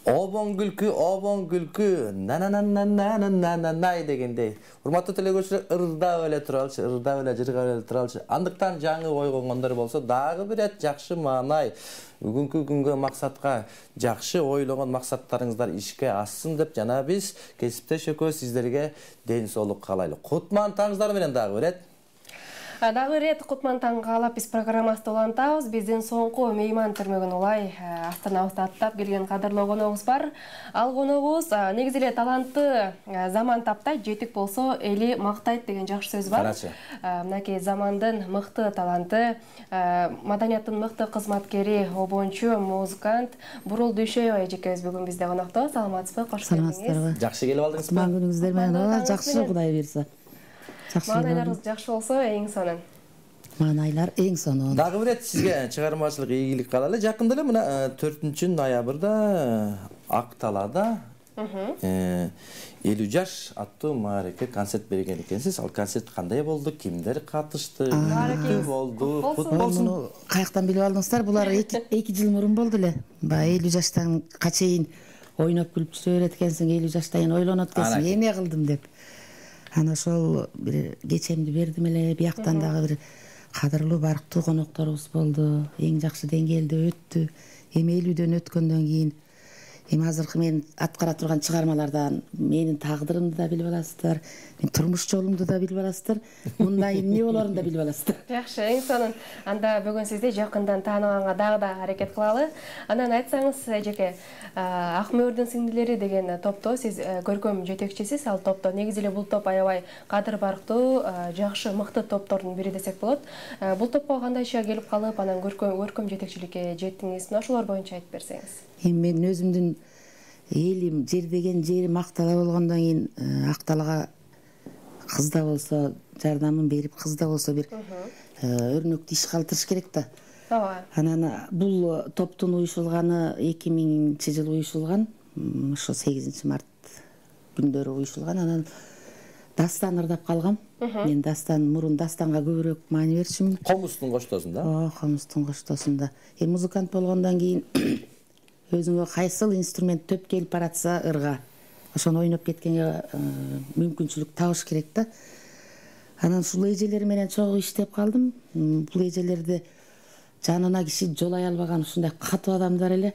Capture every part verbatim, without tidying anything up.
Обон күлкү, обон күлкү, на-на-на-на-на-на-на-на дегендей. Урматтуу телекөрүүчүлөр, ырдап эле туралычы, ырдап эле жыргап эле туралычы. Андыктан жаңы ой койгондор болсо, дагы бир эт жакшы маанай. Бүгүнкү күнгө максатка жакшы ойлогон максаттарыңыздар ишке ашсын деп жана биз кесиптеш экөөбүз сиздерге ден соолук каалайлы. Кутман таңыңыздар менен дагы бир эт. Дагы рет Кутман таң каалап биз программабызды улантабыз. Биздин соңку мейман төрмөгүн улай астанабызда аттап келген кадырлуу коногубуз бар. Ал коногубуз негизи эле талантты заман таптай, жетик болсо эли мактайт деген жакшы сөз бар. Мынакей замандын мыкты таланты, маданияттын мыкты кызматкери, обончу, музыкант Бурул Дүйшөйева эжекебиз бүгүн бизде конокто. Саламатсызбы? Кош келиңиз. Жакшы келип алдыңызбы? Кутман күнүңүздөр менен жакшы, Кудай буйрса. Маанайларыңыз жакшы болсо эң сонун. Маанайлар эң сонун. Дагы бир эт сизге чыгармачылык ийгилик каалайлы. Жакында эле мына төртүнчү ноябрда Ак Талаада элүү жаш аттуу маареке концерт берген экенсиз. Ал концерт кандай болду? Кимдер катышты? Эмне болду? Кут болсун. Каяктан билип алдыңыздар? Булар эки жыл мурун болду эле. Баягы элүү жаштанга чейин ойноп күлүп жүрө берет экенсиң, элүү жаштайын ойлонот экенсиң, эмне кылдым деп. Ана ошол бир кечемди бердим эле, бияктан дагы бир кадырлуу барктуу конокторубуз болду. Эң жакшы деңгээлде өттү. Эми элүүдөн өткөндөн кийин эми азыркы мен аткара турган чыгармалардан менин тагдырымды да билип аласыздар, мен турмуш жолумду да билип аласыздар, мындай эмне болорун да билип аласыздар. Жакшы, эң сонун. Анда бүгүн сизди жакындан тааныганга дагы да аракет кылалы. Анан айтсаңыз, эжеке, Ак мөөрдүн сиңдилери деген топто сиз көркөм жетекчисиз. Ал топто негизи эле бул топ аябай кадыр барктуу, жакшы, мыкты топтордун бири десек болот. Бул топко кандай ишке келип калып, анан көркөм жетекчиликке жеттиңиз? Ошолор боюнча айтып берсеңиз. Эми мен өзүмдүн элим, жер деген жерим Ак Тала болгондон кийин Ак Талага кыз да болсо жардамын берип, кыз да болсо бир өрнөктүү иш калтырыш керек да. Ооба. Анан бул топтун уюшулганы эки миңинчи жылы уюшулган, ошо сегизинчи март күндөрү уюшулган. Анан дастан ырдап калгам. Мен дастан мурун дастанга көбүрөөк маани берчүмүн. Комустун коштосунда? Ооба, комустун коштосунда. Эми музыкант болгондон кийин өзүңө кайсыл инструмент төп келип баратса ырга, ошону ойноп кеткенге мүмкүнчүлүк табыш керек да. Анан ушул эжелер менен чогуу иштеп калдым. Бул эжелерди жанына киши жолой албаган ушундай катуу адамдар эле.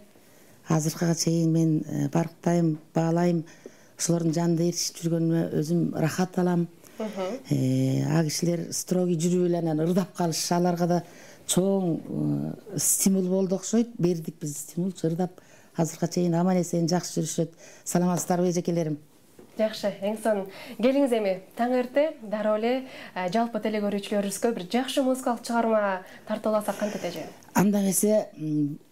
Азыркыга чейин мен барктайм, баалайм. Ошолордун жанында ээрчишип жүргөнүмө өзүм рахат алам. А кишилер строгий жүрүп эле анан ырдап калыш аларга да чоң стимул болду окшойт. Бердик биз стимул, ырдап азыркыга чейин аман эсен жакшы жүрүшөт. Саламатсыздарбы эжекелерим? Жакшы, эң сонун. Келиңиз эми таң эрте дароо эле жалпы телекөрүүчүлөрүбүзгө бир жакшы музыкалык чыгарма тартууласак кантет эже? Анда эмесе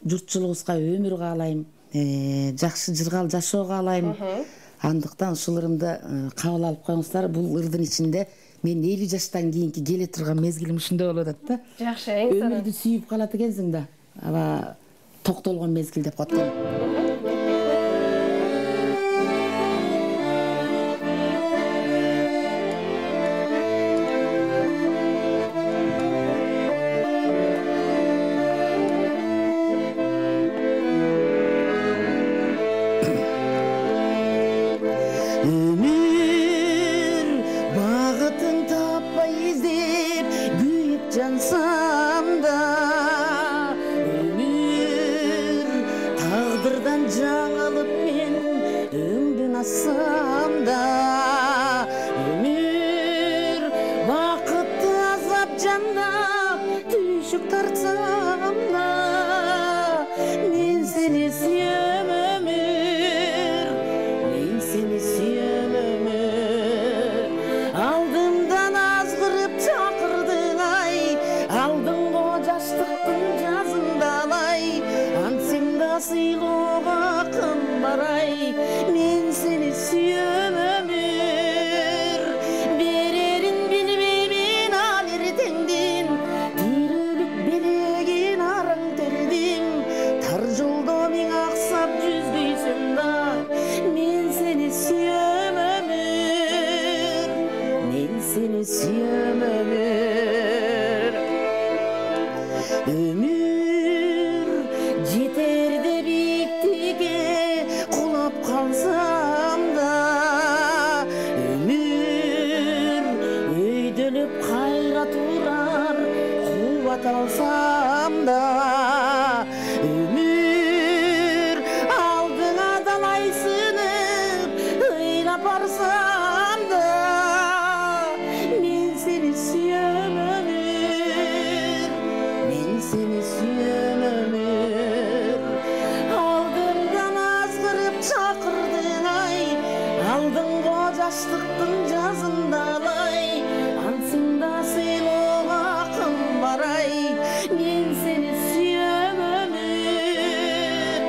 журтчулугубузга өмүр каалайм, жакшы жыргал жашоо каалайм. Андыктан ушул ырымды кабыл алып коюңуздар. Бул ырдын ичинде мен элүү жаштан кийинки келе турган мезгилим ушундай болуп атат да. Жакшы, эң сонун. Өмүрдү сүйүп калат экенсиң да. Аба токтолгон мезгил деп коет да. калсам да өмүр алдыңа далайсынып ыйлап барсам да мен сени сүйөм өмүр мен сени сүйөм өмүр алдымдан азгырып чакырдың ай алдыңго жаштыктын жазындалай ансында сыйлоого акым бар ай мен сени сүйөм өмүр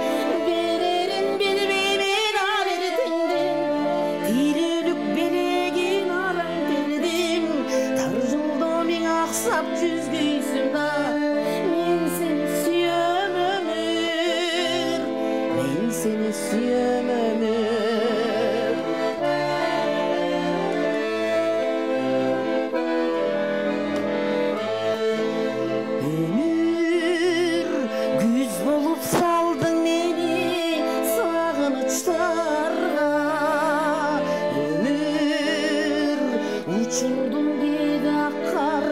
берерин билбеймин ар эртеңден тирүүлүк белегин араң бердим тар жолдо миң аксап жүзгөйсүң да мен сени сүйөм өмүр мен сени сүйөм өмүр өмүр күз болуп салдың мени сагынычтарга өмүр учурдум кээде ак кар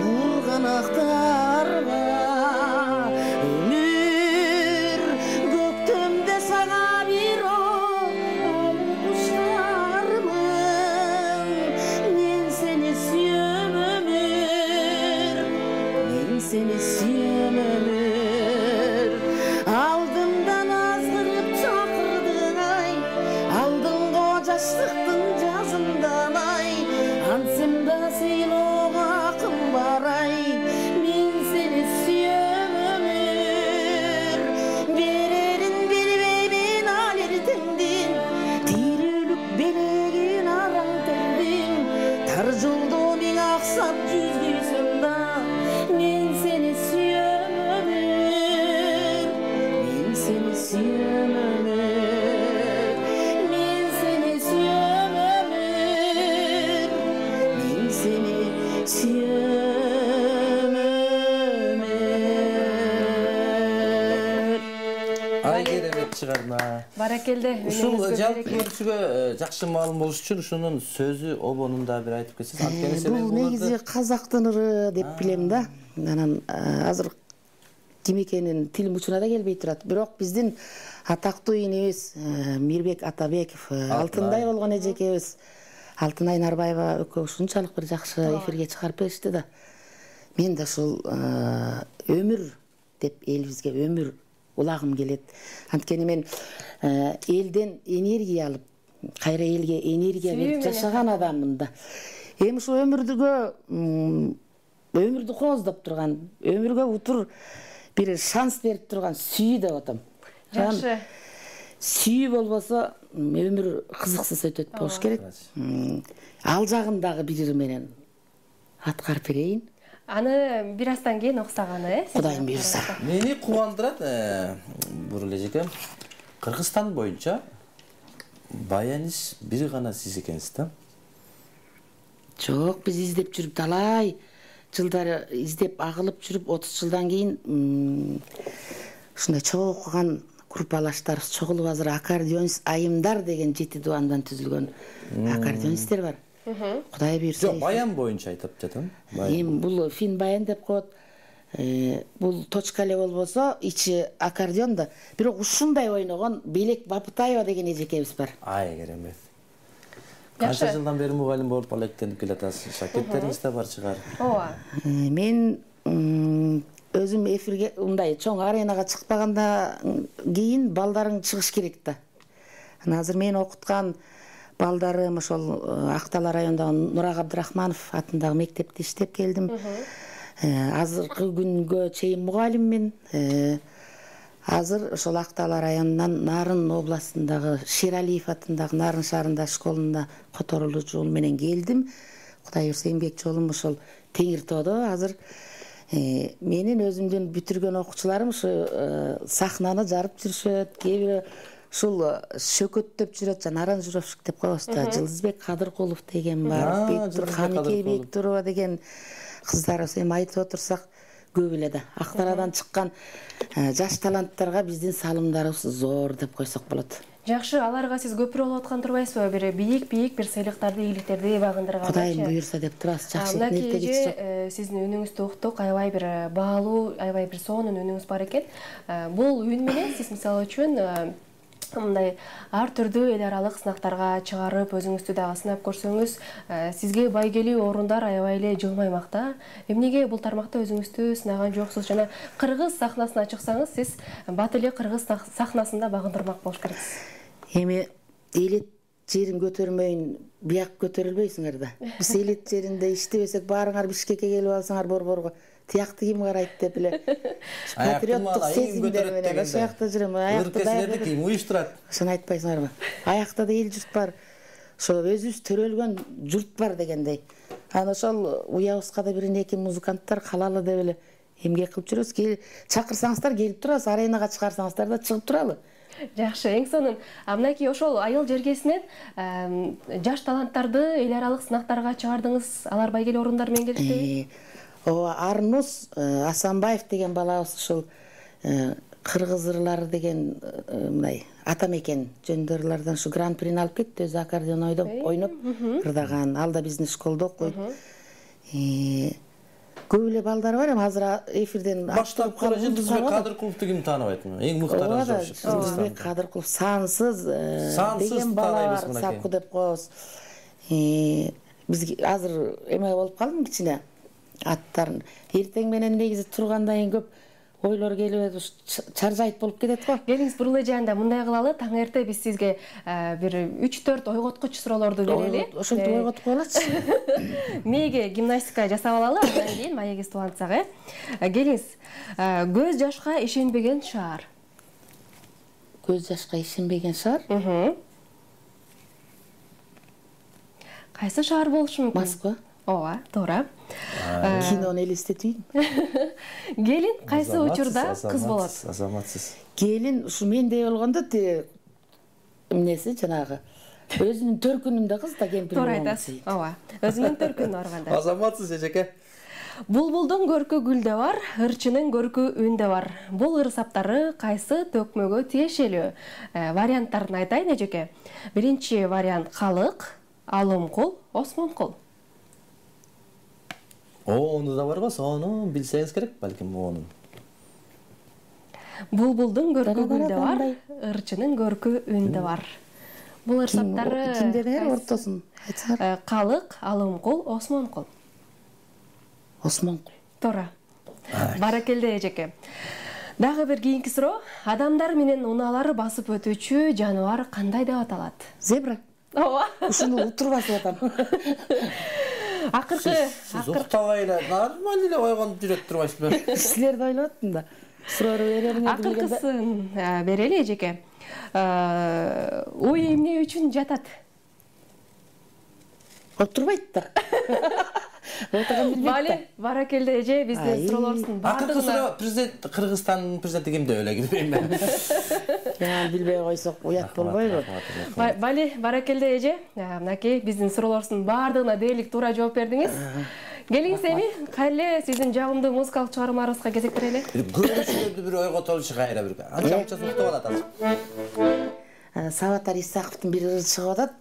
бурганактарга өмүр көктөмдө сага бирок али куштармын мен сени сүйөм өмүр мен сени сүйөм өмүр алдымдан азгырып чакырдың ай алдыңго жаштыктын жазындалай ансымда сыйлоого акым бар ай мен сени сүйөм өмүр берерин билбеймин ал эртеңдин тирүүлүк белегин араң тердим тар жолдо миң аксап жүзгөйсөм да мен сени сүйөм өмүр мен сени сүйөм өмүр мен сени сүйөм өмүр мен сени сүйөм өмүр Ай керемет чыгарма. Баракелде. Ушул жалпы көрүүчүгө жакшы маалым болуш үчүн ушунун сөзү обонун да бир айтып кетсеңиз. Анткени сен бул негизи казактын ыры деп билем да. Анан азыр ким экенин тилим учуна да келбей турат. Бирок биздин атактуу инебиз Мирбек Атабеков, Алтындай болгон эжекебиз Алтынай Нарбаева экөө ушунчалык бир жакшы эфирге чыгарып беришти да. Мен да ушул өмүр деп элибизге өмүр улагым келет. Анткени мен элден энергия алып, кайра элге энергия берип жашаган адаммын да. Эми ушу өмүрдүгө өмүрдү кооздоп турган, өмүргө утур бир шанс берип турган сүйүү деп атам. Жакшы. Сүйүү болбосо өмүр кызыксыз өтөт болуш керек. Ал жагын дагы бир менен аткарып берейин. Аны бир аздан кийин оксаганы, э? Кудайым буйрса. Мени кубандырат, Бурул эжеке. Кыргызстан боюнча баяниш бир гана сиз экенсиз да? Жок, биз издеп жүрүп талай жылдары издеп агылып жүрүп отуз жылдан кийин ушундай чогуу окуган группалаштар чогулуп азыр аккордеонист айымдар деген жети дубандан түзүлгөн аккордеонисттер бар. Кудай буйрса. Жок, баян боюнча айтып жатам. Эми бул фин баян деп коет. Бул точка эле болбосо ичи аккордеон да. Бирок ушундай ойногон Белек Бапытаева деген эжекебиз бар. Ай керемет. Канча жылдан бери мугалим болуп алектенип келатасыз? Шакирттериңиз да бар чыгар. Ооба. Мен өзүм эфирге мындай чоң аренага чыкпагандан кийин балдарың чыгыш керек да. Азыр мен окуткан балдарым ошол Актала районундагы Нурак Абдрахманов атындагы мектепте иштеп келдим. Азыркы күнгө чейин мугалиммин. Азыр ошол Актала районунан Нарын областындагы Шералиев атындагы Нарын шаарында школунда которулуу жол менен келдим. Кудай буйрса эмгек жолум ошол Теңиртоодо. Азыр менин өзүмдүн бүтүргөн окуучуларым ушу сахнаны жарып жүрүшөт. Кээ бири ушул шөкөттөп жүрөт, Жанаран Журовшик деп коебуз да. Жылдызбек Кадыркулов деген бар, Бектур Каныкей Бектурова деген кыздар. Эми айтып отурсак көп эле да. Актарадан чыккан жаш таланттарга биздин салымдарыбыз зор деп койсок болот. Жакшы, аларга сиз көпүрө болуп аткан турбайсызбы? Бир бийик-бийик бир сыйлыктарды, ийгиликтерди багындырганчы. Кудайым буйрса деп турабыз. Жакшы ниетте эже, сиздин үнүңүздү уктук, аябай бир баалуу, аябай бир сонун үнүңүз бар экен. Бул үн менен сиз мисалы үчүн мындай ар түрдүү эл аралык сынактарга чыгарып, өзүңүздү дагы сынап көрсөңүз, сизге байгелүү орундар аябай эле жылмаймак да. Эмнеге бул тармакта өзүңүздү сынаган жоксуз? Жана кыргыз сахнасына чыксаңыз, сиз бат эле кыргыз сахнасында багындырмак болуш керексиз. Эми элет жерин көтөрмөйүн, бияк көтөрүлбөйсүңөр да. Биз элет жеринде иштебесек, баарыңар Бишкекке келип алсаңар борборго, тиякты ким карайт деп эле патриоттук сезимдер менен ошол жакта жүрөм. Аякта да ким уюштурат? Ошону айтпайсыңарбы? Аякта да эл журт бар. Ошо өзүбүз төрөлгөн журт бар дегендей. Анан ошол уябызга да бир эки музыканттар калалы деп эле эмгек кылып жүрөбүз. Чакырсаңыздар келип турабыз, аренага чыгарсаңыздар да чыгып туралы. Жакшы, эң сонун. Мынакей ошол айыл жергесинен жаш таланттарды эл аралык сынактарга чыгардыңыз. Алар байгелүү орундар менен келишти. Ооба, Арнус Асанбаев деген балабыз ушул кыргыз ырлары деген мындай ата мекен жөндөрлөрдөн ушу гран-прини алып кетти. Өзү аккордеон ойноп ырдаган. Ал да биздин школдо окуйт. Көп эле балдар бар, эми азыр эфирден баштап калып Жылдызбек Кадыркуловду ким тааныбайтмы? Эң мыктары жок. Жылдызбек Кадыркулов сансыз деген бала бар, Сапку деп коебуз. Биз азыр эме болуп калдым кичине аттарын. Эртең менен негизи тургандан кийин көп ойлор келип, чаржайт болуп кетет го. Келиңиз, бурулай жаанда мындай кылалы, таң эрте биз сизге бир үч төрт ойготкуч суроолорду берели. Ошентип ойготуп коелачы. Мээге гимнастика жасап алалы, андан кийин маегибизди улантсак, э. Келиңиз, көз жашка ишенбеген шаар. Көз жашка ишенбеген шаар? Кайсы шаар болушу мүмкүн? Москва. Ооба, туура. Кинону элестетейин. Келин кайсы учурда кыз болот? Азаматсыз. Келин ушу мендей болгондо те эмнеси жанагы өзүнүн төркүнүндө кыз да кемпир. Туура айтасыз. Ооба, өзүнүн төркүнүнө барганда. Азаматсыз эжеке. Булбулдун көркү гүлдө бар, ырчынын көркү үндө бар. Бул ыр саптары кайсы төкмөгө тиешелүү? Варианттарын айтайын эжеке. Биринчи вариант калык, алымкул, осмонкул. Ону да бар го, сону билсеңиз керек, балким ону. Булбулдун көркү гүлдө бар, ырчынын көркү үндө бар. Бул ыр саптары кимдер ортосун айтсаңар? Калык, алымкул, осмонкул. Осмонкул. Туура. Баракелде эжеке. Дагы бир кийинки суроо. Адамдар менен унаалары басып өтүүчү жаныбар кандай деп аталат? Зебра. Ооба. Ушуну утурбасып атам. Акыркы, сиз уктабай эле нормально эле ойгонуп жүрөт турбайсызбы? Силерди ойлоп аттым да. Суроору берерин акыркысын берели эжеке. Ой эмне үчүн жатат? Отурбайт да. Отурган билбейт да. Бали, баракелде эже, биздин суроолорубуздун баардыгына. Акыркы суроо президент Кыргызстандын президенти ким деп эле билбейм. Жана билбей койсок уят болбойбу? Бали, баракелде эже, мынакей биздин суроолорубуздун баардыгына дээрлик туура жооп бердиңиз. Келиңиз эми, кайра сиздин жагымдуу музыкалык чыгармаларыңызга кезектирели. Көрүүчүлөрдү бир ойготолчу кайра бир. Анча мынча уктап атат азыр. Сабатар Исаковдун бир ыры чыгып атат.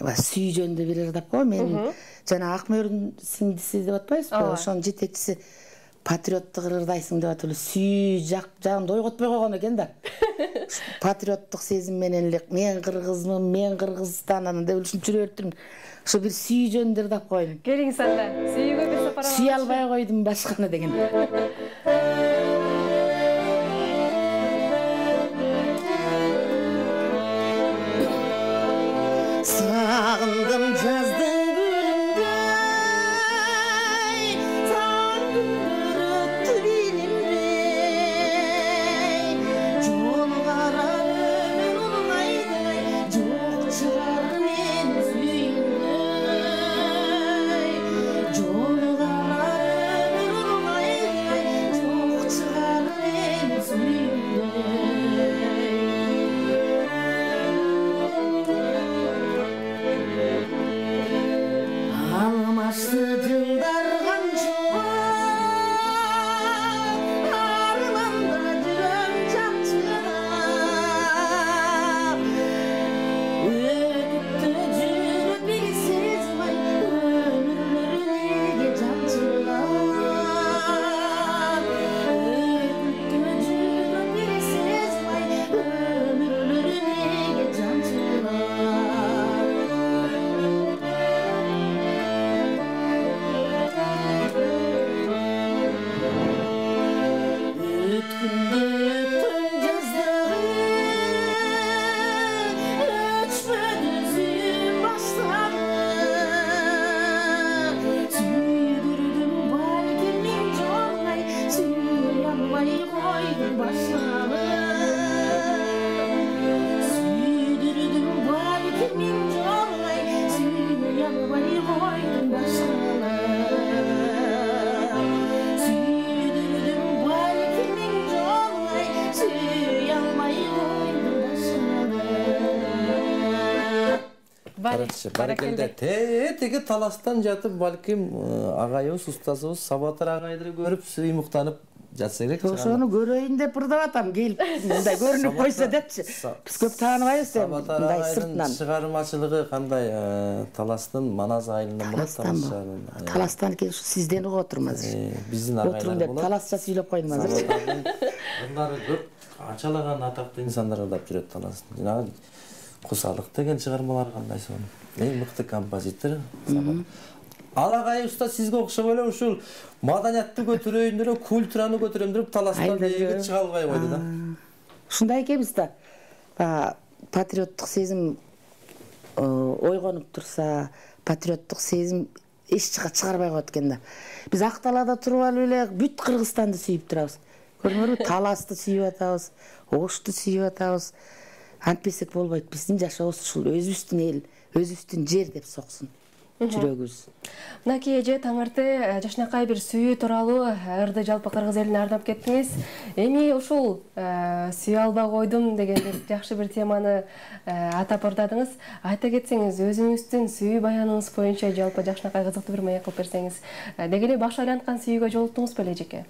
Сүй жөнүндө бир ырдап кой. Мен жана Акмөрдүн сиңдиси деп атпайсызбы? Ошонун жетекчиси патриоттук ырдайсың деп атып эле сүй жагымды ойготпой койгон экен да. Патриоттук сезим менен эле мен кыргызмын, мен Кыргызстандан деп ушинтип жүрө бериптирмин. Ошо бир сүй жөнүндө ырдап коеюн. Келиңиз анда. Сүйгө бир сапар алалы. Сүй албай койдум башканы деген. Сагындым жаздын күнүндө, сагындым өттү билинбей, жол карап өмүр улгайдай, жок чыгар менин сүйүмдө, жол карап өмүр улгайдай, башалып сүйдүрдүм балким миң жолу сүймөй албай койдум башалып сүйдүрдүм балким миң жолу сүйөй албай койдум башалып баракелде. Тетиги таластан жатып балким агайыбыз, устазыбыз Сабатыр агайды көрүп сыймыктанып жатса керек. Ошону көрөйүн деп ырдап атам, келип мындай көрүнүп койсо депчи. Биз көп тааныбайбыз эми мындай сыртынан. Чыгармачылыгы кандай? Таластын Манас айылынан болот, Таластан. Таластан экен, ушу сизден угуп отурум азыр. Биздин агайлар болот. Таласча сүйлөп койдум азыр. Ырдары көп канчалаган атактуу инсандар ырдап жүрөт Таластын. Жанагы Кусалык деген чыгармалар кандай сонун. Эң мыкты композитор. Ал агайыбызда сизге окшоп эле ушул маданиятты көтөрөйүн деп, культураны көтөрөм деп Таластан дээги чыга албай койду да. Ушундай экенбиз да. Баягы патриоттук сезим ойгонуп турса, патриоттук сезим эч жака чыгарбай коет экен да. Биз ак талаада туруп алып эле бүт Кыргызстанды сүйүп турабыз. Көрдүңөрбү? Таласты сүйүп атабыз, Ошту сүйүп атабыз. Антпесек болбойт. Биздин жашообуз ушул өзүбүздүн эл, өзүбүздүн жер деп соксун жүрөгүбүз. Мынакей эже таңырты жашынакай бир сүйүү тууралуу ырды жалпы кыргыз элине арнап кеттиңиз. Эми ушул сүйө албай койдум деген жакшы бир теманы атап ырдадыңыз. Айта кетсеңиз, өзүңүздүн сүйүү баяныңыз боюнча жалпы жакшынакай кызыктуу бир маек кылып берсеңиз. Деги эле баш айланткан сүйүүгө жолуктуңузбу эле эжеке?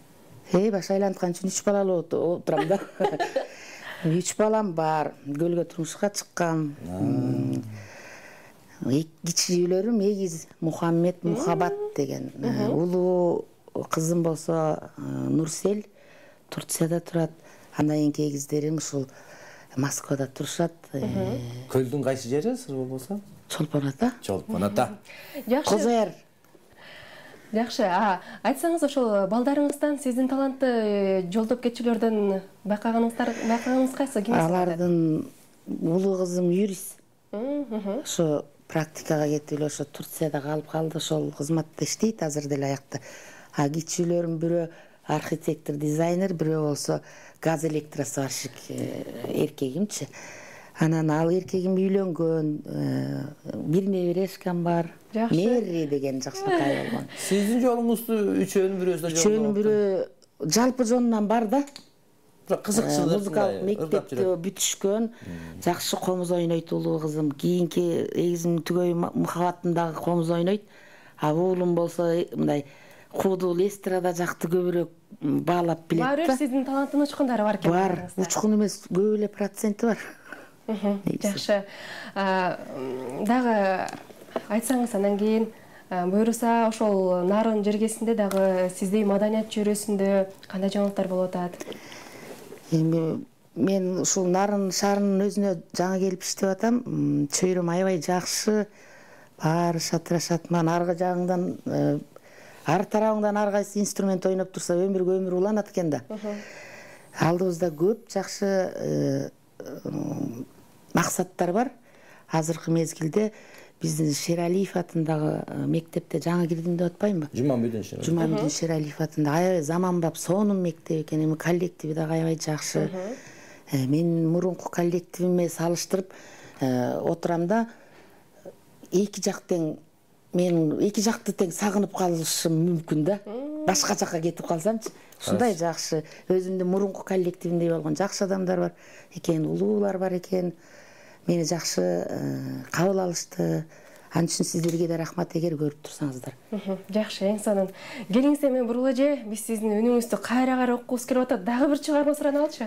Э, баш айланткан үчүн үч балалуу отурам да. Үч балам бар, көлгө турмушка чыккан. Кичүүлөрүм Эгиз, Мухаммед, Мухаббат деген. Улуу кызым болсо Нурсел, Турцияда турат. Андан кийинки эгиздерим ушул Москвада турушат. Көлдүн кайсы жери сыр болбосо? Чолпон ата. Чолпон ата. Жакшы. Козояр. Жакшы. А, айтсаңыз ошол балдарыңыздан сиздин талантты жолдоп кетчүлөрдөн байкаганыңыздар, байкаганыңыз кайсы? Алардын улуу кызым юрист. Ошо практикага кетип эле ошо Турцияда калып калды, ошол кызматта иштейт азыр деле аякта. А кичүүлөрүм бирөө архитектор, дизайнер, бирөө болсо газ электросварщик эркегимчи. Анан ал эркегим үйлөнгөн, бир неберешкам бар. Мэри деген жакшынакай болгон. Сиздин жолуңузду үчөөнүн бирөөсүнө жолугуп. Үчөөнүн бирөө жалпы жонунан бар да. Кызыкчылык, музыкалык мектепти бүтүшкөн, жакшы комуз ойнойт улуу кызым. Кийинки эгизимдин түгөй Мухаббатындагы комуз ойнойт. А уулум болсо мындай куудул эстрада жакты көбүрөөк баалап билет да. Баары сиздин таланттын учкундары бар экен. Бар, учкун эмес, көп эле проценти бар. Жакшы. Дагы айтсаңыз, андан кийин буюрса ошол Нарын жергесинде дагы сиздей маданият чөйрөсүндө кандай жаңылыктар болуп атат? Эми мен ушул Нарын шаарынын өзүнө жаңы келип иштеп атам. Чөйрөм аябай жакшы, баары шатырашат. Ман аркы жагыңдан, ар тарабыңдан ар кайсы инструмент ойноп турса өмүргө өмүр уланат экен да. Алдыбызда көп жакшы максаттар бар. Азыркы мезгилде биздин Шералиев атындагы мектепте жаңы кирдим деп атпаймынбы? Жумамбүдүн Шералиев. Жумамбүдүн Шералиев атында аябай заманбап, сонун мектеп экен. Эми коллективи дагы аябай жакшы. Мен мурунку коллективиме салыштырып отурам да, эки жак тең, мен эки жакты тең сагынып калышым мүмкүн да. Башка жакка кетип калсамчы, ушундай жакшы, өзүмдүн мурунку коллективимдей болгон жакшы адамдар бар экен, улуулар бар экен. Мени жакшы кабыл алышты. Ал үчүн сиздерге да рахмат эгер көрүп турсаңыздар. Жакшы, эң сонун. Келиңиз эми бурула же, биз сиздин үнүңүздү кайра-кайра окугубуз келип атат. Дагы бир чыгарма сурана алчы?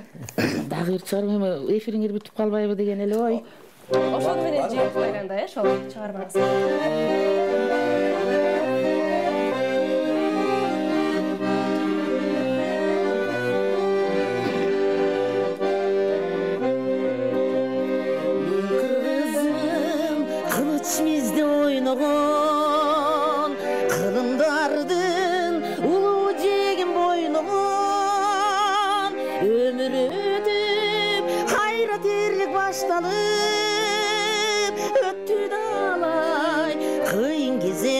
Дагы бир чыгарма, эми эфириңер бүтүп калбайбы деген эле ой. Ошону менен жеп байланда, э, ошол чыгармаңыз. Мизде ойногон кылымдардын улуу жегин бойногон өмүр өтүп кайра тирлик башталып өттү далай кыйын кезек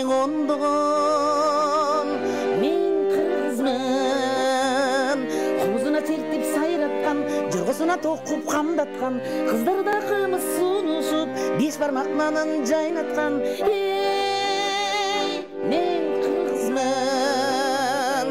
жолгусуна токуп камдаткан, кыздарда кымыз сунушуп беш бармак нанын жайнаткан. Эй, мен кыргызмын,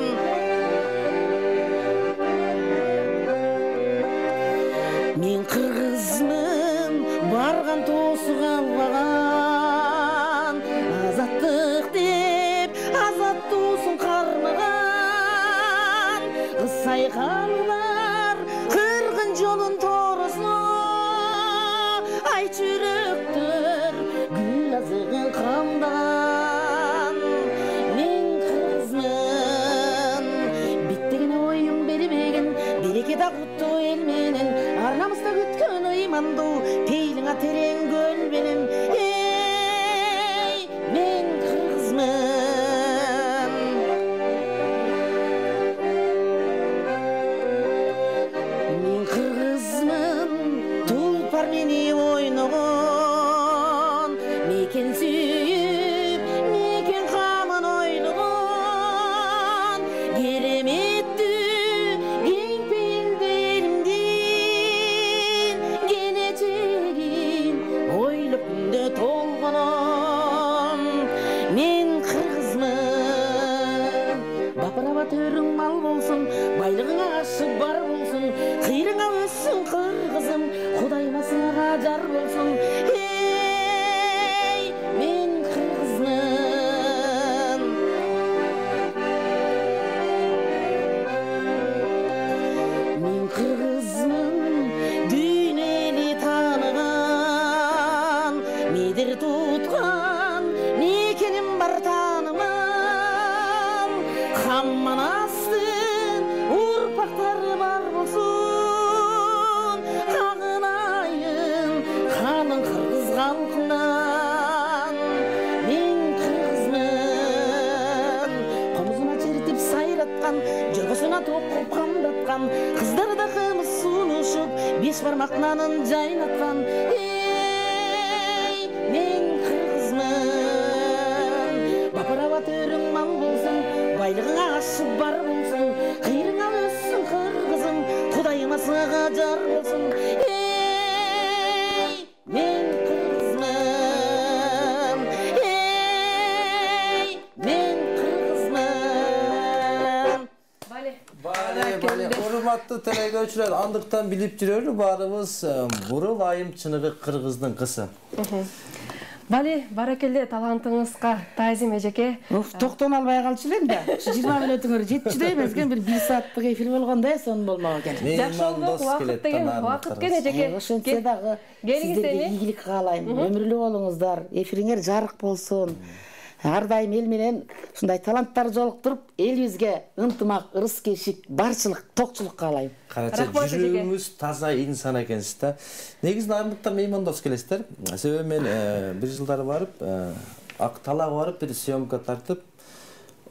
мен кыргызмын, барган тоосу калбаган, азаттык деп азаттуусун кармаган, кыз сайкалар кыргын жолун тооросуна, ай жүрөктөр гүл азыгын камдаган. Мен кыргызмын, биттеген оюм бербеген, береке да куттуу эл менен, ар намыста күткөн ыймандуу пейлиңа терең көл менен. Эй, мен кыргызмын, мен кыргызмын, тулпар мени ойногон, мекен сүйүп мекен камын ойногон, кереметтүү кең пейилди элимдин, келечегин ойлоп күндө толгоном. Мен кыргызмын, бапырава төрүң мал болсун, байлыгыңа ашы бар болсун, кыйрыңа өссүн кыргызым, Кудайыма сага жар болсун. Эй, мен кыргызмын, мен кыргызмын, дүйнө эли тааныган, медер туткан мекеним бар тааныман, Хамманастын урпактары бар болсун, кагынайын канын кыргыз калкынан. Мен кыргызмын, комузуна чертип сайраткан, жоргосуна токуп камдаткан, кыздарда кымыз сунушуп беш бармак нанын жайнаткан. Эй, мен кыргызмын, бапырава төрүң мал болсун, байлыгыңа ашы бар болсун, кыйрыңа өссүн кыргызым, Кудайыма сага жар болсун. Эй, мен кыргызмын, эй, мен кыргызмын. Бале. Бале, бале, урматтуу телекөрүүчүлөр, андыктан билип жүрөлү баарыбыз Бурул айым чыныгы кыргыздын кызы. Бале, баракелде, талантыңызга таазим эжеке. Токтон албай калчу элем да. жыйырма мүнөтүңөр жетчүдөй эмес экен, бир бир сааттык эфир болгондой, сонун болмок экен. Жакшы болду, убакыт деген убакыт экен эжеке. Ошентсе дагы сиздерге ийгилик каалайм. Өмүрлүү болуңуздар, эфириңер жарык болсун. Ар дайым эл менен ушундай таланттар жолуктуруп, элибизге ынтымак, ырыс-кешик, барчылык, токчулук каалайм. Карачы, жүрөгүңүз таза инсан экенсиз да. Негизи нарындыктар меймандос келесиздер. Себеби мен бир жылдары барып, Ак Талаага барып, бир съемка тартып,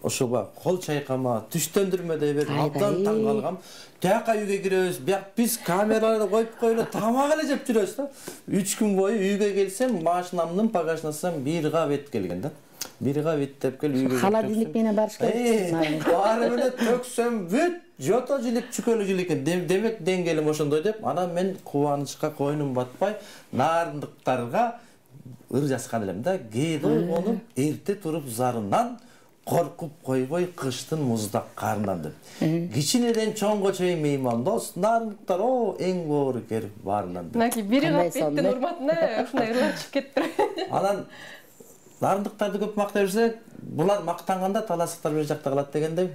ошого кол чайкама, түштөндүрмөдөй берип, абдан таң калгам. Тияка үйгө киребиз, бияк биз камераларды коюп коелу, тамак эле жеп жүрөбүз да. үч күн бою үйгө келсем, машинамдын багажнасынан бир кап эт келген да. Бир кап эт деп кел үйгө. Холодильник менен барыш керек. Баары менен төксөм, бүт жото жилип, чүкөлү жилип экен. Демек деңгээлим ошондой деп, анан мен кубанычка койнум батпай, нарындыктарга ыр жазган элем да. Кээде ойгонуп, эрте туруп зарынан коркуп койбой кыштын муздак карынан деп. Кичинеден чоңго чейин меймандос, нарындыктар о эң боорукер баарынан деп. Мынакей бири кап эттин урматына ушундай ырлачып кеттир. Анан нарындыктарды көп мактай берсе, булар мактанганда таласыктар бир жакта калат дегендей.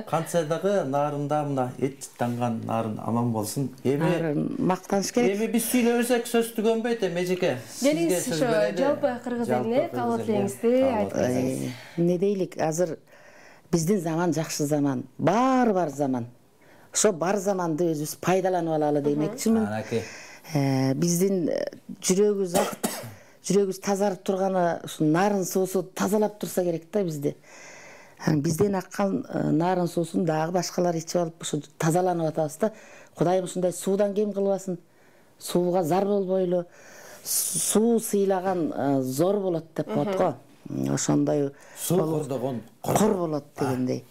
Кантса дагы нарында мына эт жыттанган нарын аман болсун. Эми мактаныш керек. Эми биз сүйлөп берсек сөз түгөнбөйт эми эжеке. Келиңиз ошо жалпы кыргыз элине кабыл элеңизди айтып берсеңиз. Эмне дейлик, азыр биздин заман жакшы заман, баары бар заман. Ошо бар заманды өзүбүз пайдаланып алалы демекчимин. Биздин жүрөгүбүз ак, жүрөгүбүз тазарып турганы ушу нарын суусу тазалап турса керек да бизди. Бизден аккан нарын суусун дагы башкалар ичип алып ушу тазаланып атабыз да. Кудайым ушундай суудан кем кылбасын. Сууга зар болбойлу. Суу сыйлаган зор болот деп коет го. Ошондой суу кордогон кор болот дегендей.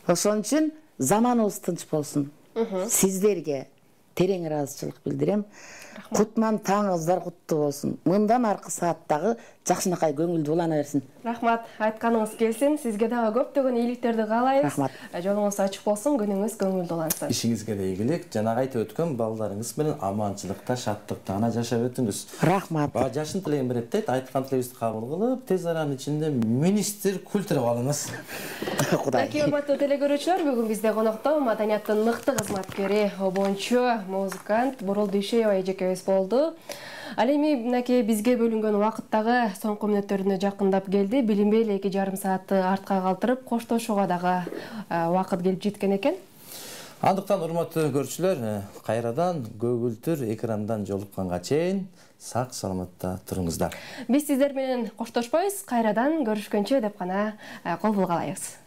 Ошон үчүн заманыбыз тынч болсун. Сиздерге, терең ыраазычылык билдирем. Кутман таңыңыздар куттуу болсун. Мындан аркы сааттагы жакшынакай көңүлдүү улана берсин. Рахмат, айтканыңыз келсин. Сизге дагы көптөгөн ийгиликтерди каалайбыз. Рахмат. Жолуңуз ачык болсун, күнүңүз көңүлдүү улансын. Ишиңизге да ийгилик, жанагы айтып өткөн балдарыңыз менен аманчылыкта, шаттыкта гана жашап өтүңүз. Рахмат. Баа жашын тилегин берет дейт, айткан тилегибизди кабыл кылып, тез аранын ичинде министр культура алыңыз. Кудай. Мынакей урматтуу телекөрүүчүлөр, бүгүн бизде конокто маданияттын мыкты кызматкери, обончу, музыкант Бурул Дүйшөева эжекебиз болду. Ал эми мынакей бизге бөлүнгөн убакыттагы соңку мүнөттөрүнө жакындап келди. Билинбей эле эки жарым саатты артка калтырып, коштошууга дагы убакыт келип жеткен экен. Андыктан урматтуу көрүүчүлөр, кайрадан көгүлтүр экрандан жолукканга чейин сак саламатта туруңуздар. Биз сиздер менен коштошпойбуз, кайрадан көрүшкөнчө деп гана кол булгалайбыз.